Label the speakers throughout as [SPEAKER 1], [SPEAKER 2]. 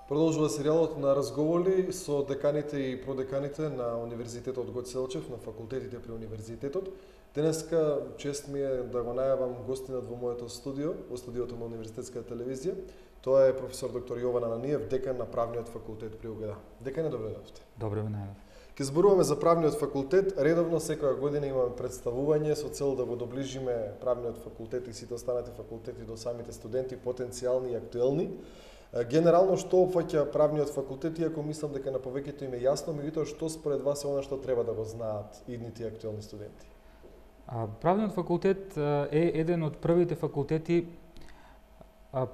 [SPEAKER 1] Продолжува серијалот на разговори со деканите и продеканите на Универзитетот Гоце Делчев, на факултетите при Универзитетот. Денеска чест ми е да го најавам гостинот во моето студио, во студиото на Универзитетска телевизија. Тоа е професор доктор Јован Ананиев, декан на Правниот факултет при УГД. Декане, добро дојдовте.
[SPEAKER 2] Добро ме најдов.
[SPEAKER 1] Ке зборуваме за Правниот факултет. Редовно секоја година имаме представување со цел да го доближиме Правниот факултет и сите останати факултети до самите студенти, потенцијални и актуелни. Генерално, што опфаќа Правниот факултет, иако мислам дека на повеќето им е јасно, меѓутоа што според вас е она што треба да го знаат идните и актуелни студенти?
[SPEAKER 2] Правниот факултет е еден од првите факултети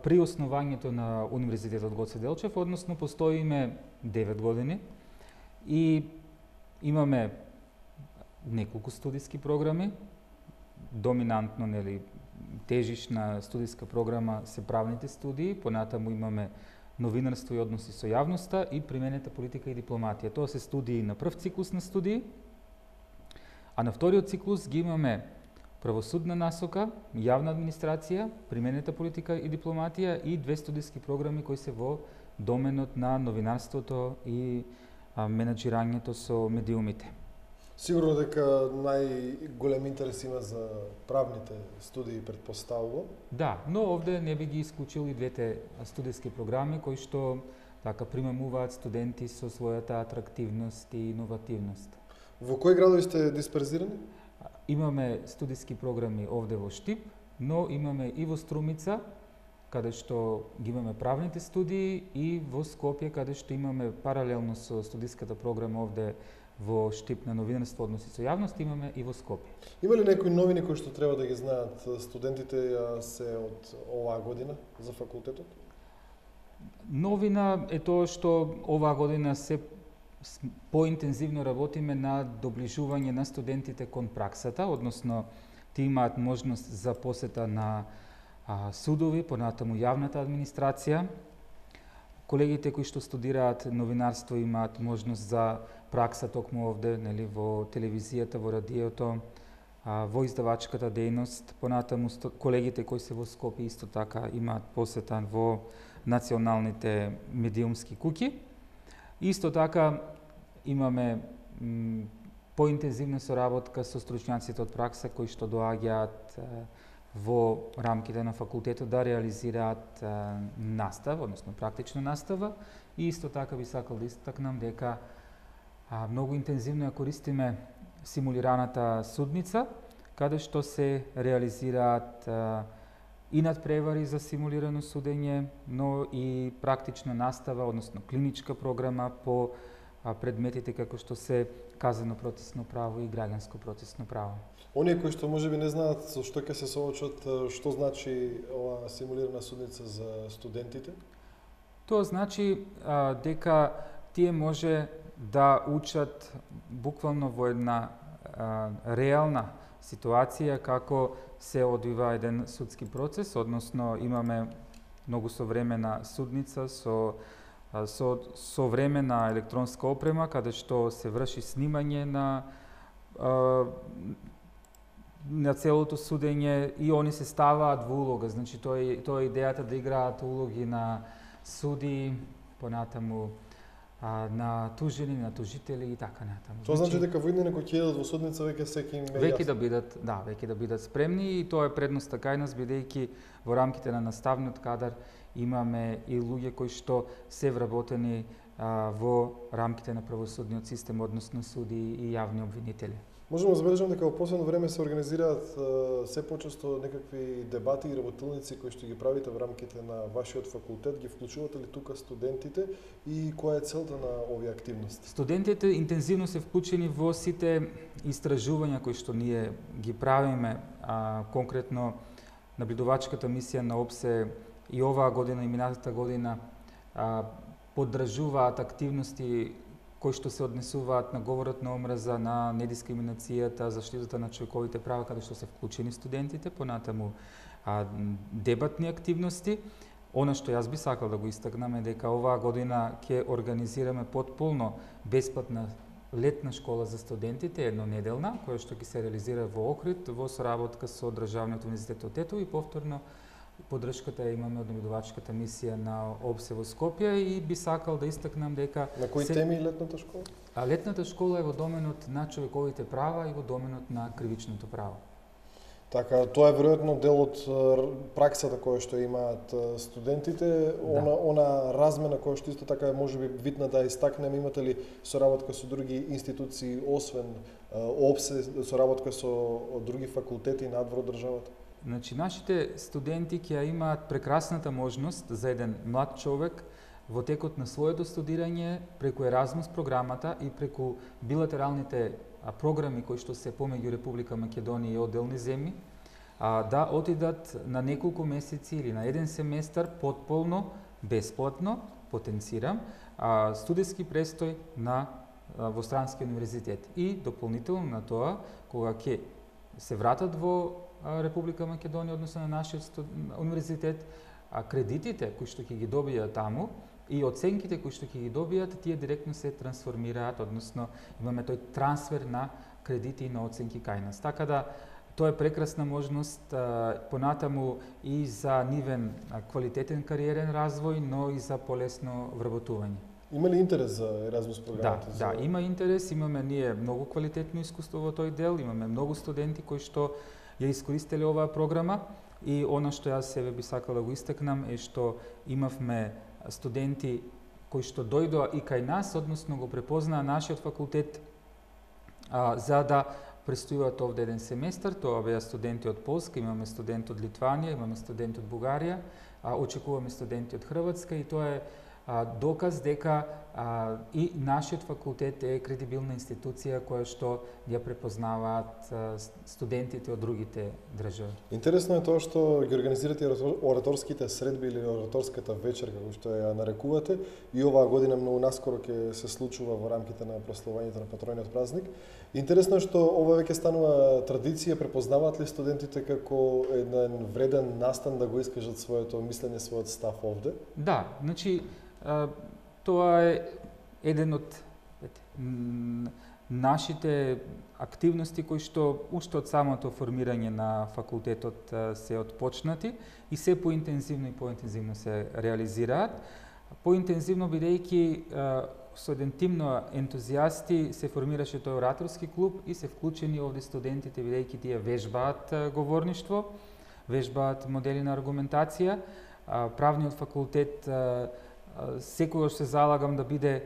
[SPEAKER 2] при основањето на Универзитетот Гоце Делчев, односно постоиме 9 години и имаме неколку студиски програми, доминантно, тежишна студиска програма се правните студии, понатаму имаме новинарство и односи со јавноста и применета политика и дипломатија. Тоа се студии на прв циклус на студии, а на вториот циклус ги имаме правосудна насока, јавна администрација, применета политика и дипломатија и 2 студиски програми кои се во доменот на новинарството и менаџирањето со медиумите.
[SPEAKER 1] Сигурно дека најголем интерес има за правните студии, претпоставувам.
[SPEAKER 2] Да, но овде не би ги исклучил и двете студиски програми кои што така примамуваат студенти со својата атрактивност и иновативност.
[SPEAKER 1] Во кои градови сте дисперзирани?
[SPEAKER 2] Имаме студиски програми овде во Штип, но имаме и во Струмица, каде што ги имаме правните студии, и во Скопје, каде што имаме паралелно со студиската програма овде во Штип на новинарство односи со јавност, имаме и во Скопје.
[SPEAKER 1] Има ли некои новини кои што треба да ги знаат студентите се од оваа година за факултетот?
[SPEAKER 2] Новина е тоа што оваа година се поинтензивно работиме на доближување на студентите кон праксата, односно тие имаат можност за посета на судови, понатаму јавната администрација. Колегите кои што студираат новинарство имаат можност за пракса токму овде, во телевизијата, во радиото, во издавачката дејност. Понатаму колегите кои се во Скопје исто така имаат посета во националните медиумски куќи. Исто така имаме поинтензивна соработка со стручњаците од пракса кои што доаѓаат во рамките на факултетот да реализираат настава, односно практична настава, и исто така би сакал да истакнам дека многу интензивно ја користиме симулираната судница, каде што се реализираат и надпревари за симулирано судење, но и практична настава, односно клиничка програма по предметите како што се казано процесно право и граѓанско процесно право.
[SPEAKER 1] Оние кои што можеби не знаат со што ќе се соочат, што значи ова симулирана судница за студентите?
[SPEAKER 2] Тоа значи дека тие може да учат буквално во една реална ситуација како се одвива еден судски процес, односно имаме многу современа судница со современа електронска опрема, каде што се врши снимање на целото судење и они се ставаат во улога. Значи тоа е идејата да играат улоги на суди, понатаму на тужени, на тужители и така натаму.
[SPEAKER 1] Тоа значи дека во иднина кога ќе едат во судница веќе секи им е
[SPEAKER 2] веќе да бидат спремни, и тоа е предноста кај нас, бидејќи во рамките на наставниот кадар имаме и луѓе кои што се вработени во рамките на правосудниот систем, односно суди и јавни обвинители.
[SPEAKER 1] Можеме да забележам дека во последно време се организираат се почесто некакви дебати и работилници кои што ги правите во рамките на вашиот факултет. Ги вклучувате ли тука студентите и која е целта на овие активности?
[SPEAKER 2] Студентите интензивно се вклучени во сите истражувања кои што ние ги правиме, конкретно наблюдувачката мисија на ОПСЕ и оваа година и минатата година поддржуваат активности кои што се однесуваат на говорот на омраза, на недискриминацијата, заштитата на човековите права, каде што се вклучени студентите, понатаму дебатни активности. Она што јас би сакал да го истакнам е дека оваа година ќе организираме потполно бесплатна летна школа за студентите, еднонеделна, која што ќе се реализира во Охрид, во соработка со Државниот универзитет од Тетово, и повторно Подршката имаме од наблюдувачката мисија на ОБСЕ во Скопје и би сакал да истакнам дека
[SPEAKER 1] на кои теми летната школа?
[SPEAKER 2] Летната школа е во доменот на човековите права и во доменот на кривичното право.
[SPEAKER 1] Така, тоа е веројатно дел од праксата која што имаат студентите, она размена која што исто така е можеби битна да истакнеме, имате ли соработка со други институции освен ОБСЕ, соработка со други факултети надвор од државата?
[SPEAKER 2] Значи, нашите студенти ќе имаат прекрасната можност за еден млад човек во текот на своето студирање преку Еразмус програмата и преку билатералните програми кои што се помеѓу Република Македонија и одделни земји, да отидат на неколку месеци или на еден семестар потполно, бесплатно, потенцирам, студентски престој во странски универзитет. И дополнително на тоа, кога ќе се вратат во Република Македонија, односно на нашиот универзитет, кредитите кои што ќе ги добијат таму и оценките кои што ќе ги добијат, тие директно се трансформираат, односно имаме тој трансфер на кредити и на оценки кај нас. Така да, тоа е прекрасна можност понатаму и за нивен квалитетен кариерен развој, но и за полесно вработување.
[SPEAKER 1] Има ли интерес за Еразмус програмата?
[SPEAKER 2] Да, има интерес, имаме ние многу квалитетно искуство во тој дел, имаме многу студенти кои што ја искористеле оваа програма и она што јас себе би сакал да го истакнам е што имавме студенти кои што дојдоа и кај нас, односно го препознаа нашиот факултет за да престојуваат овде еден семестар. Тоа беа студенти од Полска, имаме студент од Литванија, имаме студент од Бугарија, очекуваме студенти од Хрватска и тоа е доказ дека и нашиот факултет е кредибилна институција која што ја препознаваат студентите од другите држави.
[SPEAKER 1] Интересно е тоа што ги организирате ораторските средби или ораторската вечер, како што ја нарекувате, и оваа година многу наскоро ќе се случува во рамките на прославувањето на патрониот празник. Интересно е што ова веќе станува традиција, препознаваат ли студентите како еден вреден настан да го искажат своето мислење, својот став овде?
[SPEAKER 2] Да, значи тоа е еден од нашите активности кои што уште од самото формирање на факултетот се отпочнати и се поинтензивно и поинтензивно се реализираат. Поинтензивно бидејќи со еден тим на ентузијасти се формираше тој ораторски клуб и се вклучени овде студентите бидејќи тие вежбаат говорништво, вежбаат модели на аргументација. Правниот факултет секогаш се залагам да биде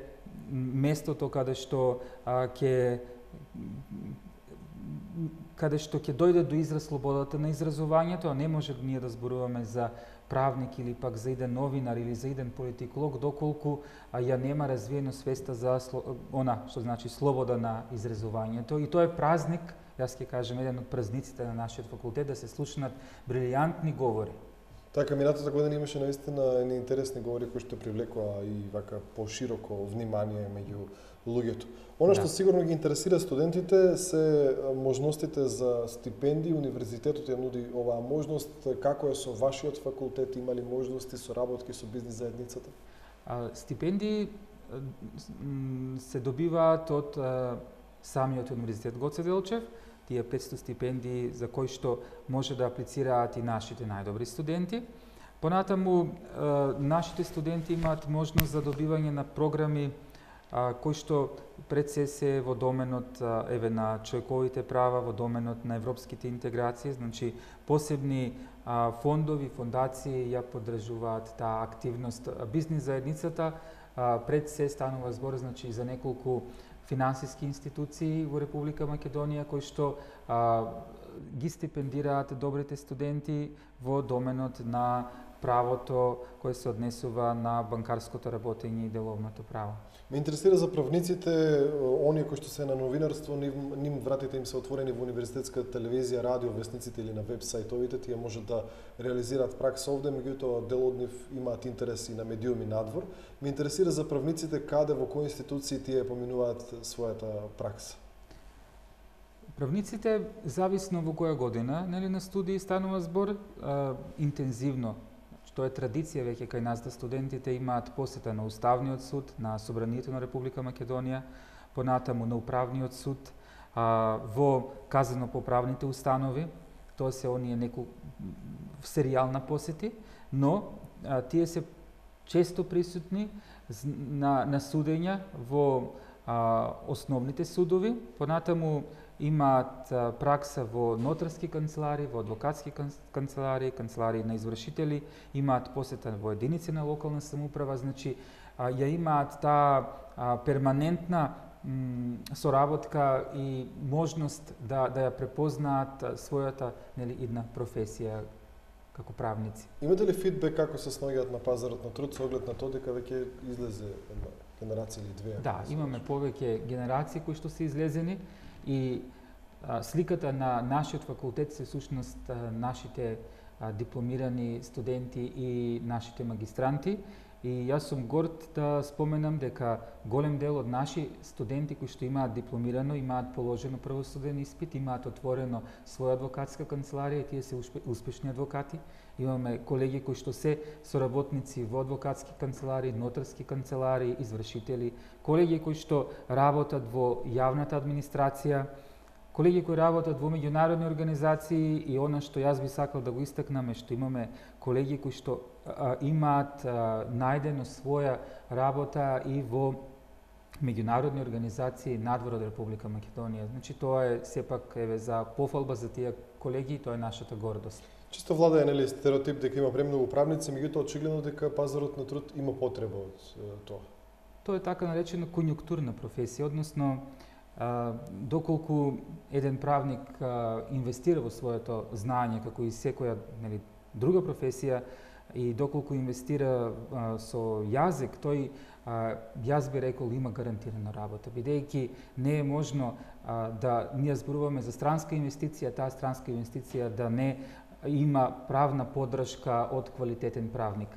[SPEAKER 2] местото каде што ќе дојде до израз слободата на изразувањето, а не може ние да зборуваме за правник или пак за еден новинар или за еден политиколог доколку ја нема развиено свеста за она што значи слобода на изразувањето. И тоа е празник, јас ќе кажем еден од празниците на нашиот факултет, да се слушнат брилијантни говори.
[SPEAKER 1] Така, минатата година имаше наистина едни интересни говори кои што привлекоа и вака пошироко внимание меѓу луѓето. Она што сигурно ги интересира студентите се можностите за стипендии. Универзитетот ја нуди оваа можност. Како е со вашиот факултет? Има ли можности со работки со бизнис заедницата?
[SPEAKER 2] Стипендии се добиваат од самиот универзитет Гоце Делчев. Тие 500 стипендии за кои што може да аплицираат и нашите најдобри студенти. Понатаму, нашите студенти имаат можност за добивање на програми кои што пред се во доменот на човековите права, во доменот на европските интеграции, значи посебни фондови, фондации ја поддржуваат таа активност. Бизнис заедницата пред се станува збор значи за неколку финансиски институции во Република Македонија кои што ги стипендираат добрите студенти во доменот на правото кој се однесува на банкарското работење и деловното право.
[SPEAKER 1] Ме интересира за правниците, оние кои што се на новинарство, ним вратите им се отворени во универзитетска телевизија, радио, весниците или на веб сајтовите, тие можат да реализираат пракса овде, меѓутоа дел од нив имаат интерес и на медиуми надвор. Ме интересира за правниците каде, во кои институции тие поминуваат својата пракса.
[SPEAKER 2] Правниците, зависно во која година, на студии станува збор, интензивно. Тоа е традиција веќе кај нас да студентите имаат посета на Уставниот суд, на Собранието на Република Македонија, понатаму на Управниот суд, во казано-поправните установи, тоа се оние серијална посети, но тие се често присутни на судења во основните судови, понатаму имаат пракса во нотарски канцелари, во адвокатски канцелари, канцелари на извршители, имаат посета во единици на локална самоуправа, значи ја имаат таа перманентна соработка и можност да ја препознаат својата идна професија како правници.
[SPEAKER 1] Имате ли фидбек како се снаоѓаат на пазарот на труд со оглед на тоа дека веќе излезе една генерација или две?
[SPEAKER 2] Да, имаме повеќе генерации кои што се излезени и сликата на нашиот факултет се всушност нашите дипломирани студенти и нашите магистранти. И јас сум горд да споменам дека голем дел од наши студенти кои што имаат дипломирано, имаат положено правосуден испит, имаат отворено своја адвокатска канцеларија и тие се успешни адвокати. Имаме колеги кои што се соработници во адвокатски канцелари, нотарски канцелари, извршители, колеги кои што работат во јавната администрација, колеги кои работат во меѓународни организации и она што јас би сакал да го истакнам е што имаме колеги кои што имаат најдено своја работа и во меѓународни организации надвор од Република Македонија. Значи тоа е сепак за пофалба за тие колеги, тоа е нашата гордост.
[SPEAKER 1] Чисто владае стереотип дека има премногу правници, меѓутоа очигледно дека пазарот на труд има потреба од тоа.
[SPEAKER 2] Тоа е така наречена конјунктурна професија, односно доколку еден правник инвестира во своето знаење како и секоја друга професија и доколку инвестира со јазик, тој јас би рекол има гарантирана работа, бидејќи не е можно да ние зборуваме за странска инвестиција, таа странска инвестиција да не има правна поддршка од квалитетен правник.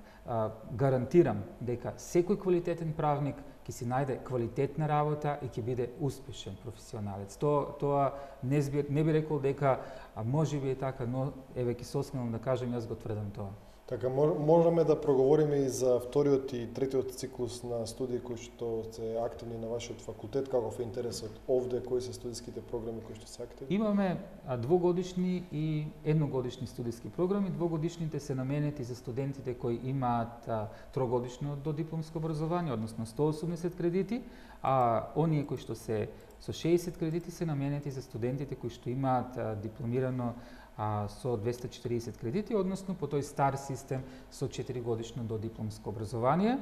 [SPEAKER 2] Гарантирам дека секој квалитетен правник ќе си најде квалитетна работа и ќе биде успешен професионалец. Тоа не би рекол дека можеби е така, но еве ќе се осмелам да кажам, јас го тврдам тоа.
[SPEAKER 1] Така, можеме да проговориме и за вториот и третиот циклус на студии кои што се активни на вашиот факултет, каков е интересот овде, кои се студиските програми кои што се активни?
[SPEAKER 2] Имаме двогодишни и едногодишни студиски програми. Двогодишните се наменети за студентите кои имаат трогодишно додипломско образование, односно 180 кредити, а оние кои што се со 60 кредити се наменети за студентите кои што имаат дипломирано со 240 кредити, односно по тој стар систем со 4-годишно додипломско образование.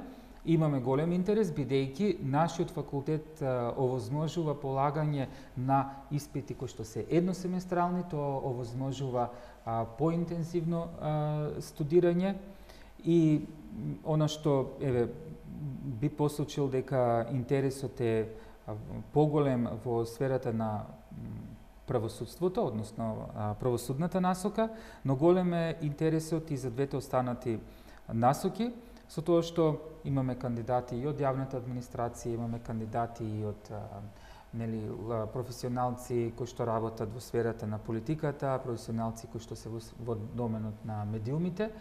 [SPEAKER 2] Имаме голем интерес, бидејќи нашиот факултет овозможува полагање на испити кои што се едносеместрални, тоа овозможува поинтензивно студирање и она што би посочил дека интересот е поголем во сферата на правосудството, односно правосудната насока, но голем е интересот и за двете останати насоки, со тоа што имаме кандидати и од јавната администрација, имаме кандидати и од професионалци кои што работат во сферата на политиката, професионалци кои што се во доменот на медиумите.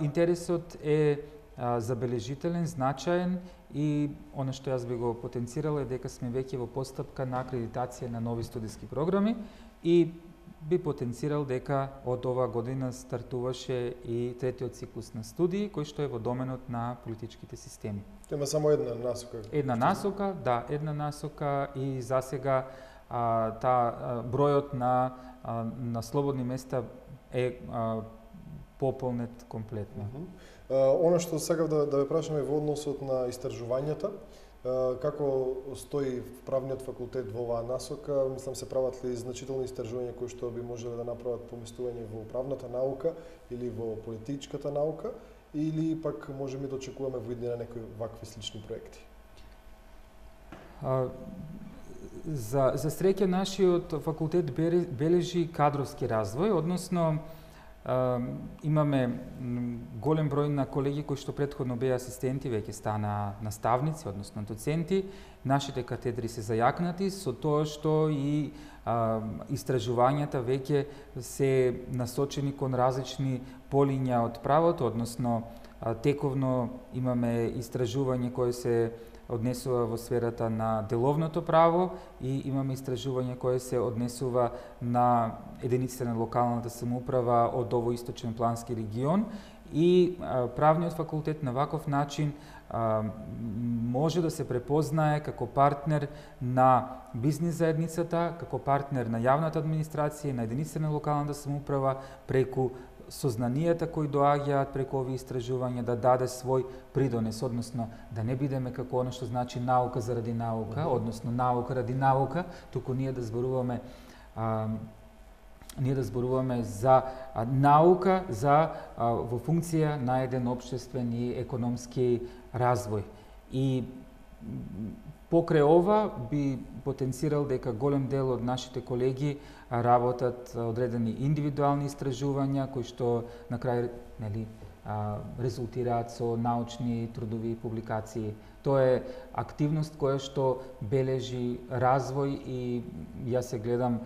[SPEAKER 2] Интересот е забележителен, значаен и она што јас би го потенцирал е дека сме веќе во постапка на акредитација на нови студиски програми и би потенцирал дека од оваа година стартуваше и третиот циклус на студии кој што е во доменот на политичките системи.
[SPEAKER 1] Има само една насока.
[SPEAKER 2] Една насока и засега бројот на слободни места е пополнет комплетно.
[SPEAKER 1] Оно што сакав да ве прашаме во односот на истражувањата, како стои правниот факултет во оваа насока, мислам се прават ли значителни истражувања кои што би можеле да направат поместување во правната наука или во политичката наука, или пак можеме да очекуваме во иднина некои вакви слични проекти?
[SPEAKER 2] За среќа нашиот факултет бележи кадровски развој, односно имаме голем број на колеги кои што претходно беа асистенти, веќе стана наставници, односно доценти. Нашите катедри се зајакнати со тоа што и истражувањата веќе се насочени кон различни полиња од правото, односно тековно имаме истражување кое се однесува во сферата на деловното право и имаме истражување кое се однесува на единиците на локалната самоуправа од овој источен плански регион и правниот факултет на ваков начин може да се препознае како партнер на бизнис заедницата, како партнер на јавната администрација и на единиците на локалната самоуправа преку сознанијата кои доаѓаат преку овие истражувања да даде свој придонес, односно да не бидеме како она што значи наука заради наука, односно наука ради наука, туку ние да зборуваме за наука во функција на еден општествен и економски развој. И покрај ова би потенцирал дека голем дел од нашите колеги работат одредени индивидуални истражувања кои што на крај резултираат со научни трудови публикации. Тоа е активност која што бележи развој и јас се гледам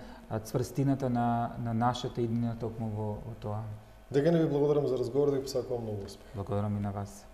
[SPEAKER 2] цврстината на нашата иднина токму во тоа.
[SPEAKER 1] Дека не ви благодарам за разговор, да ви посакувам многу успех.
[SPEAKER 2] Благодарам и на вас.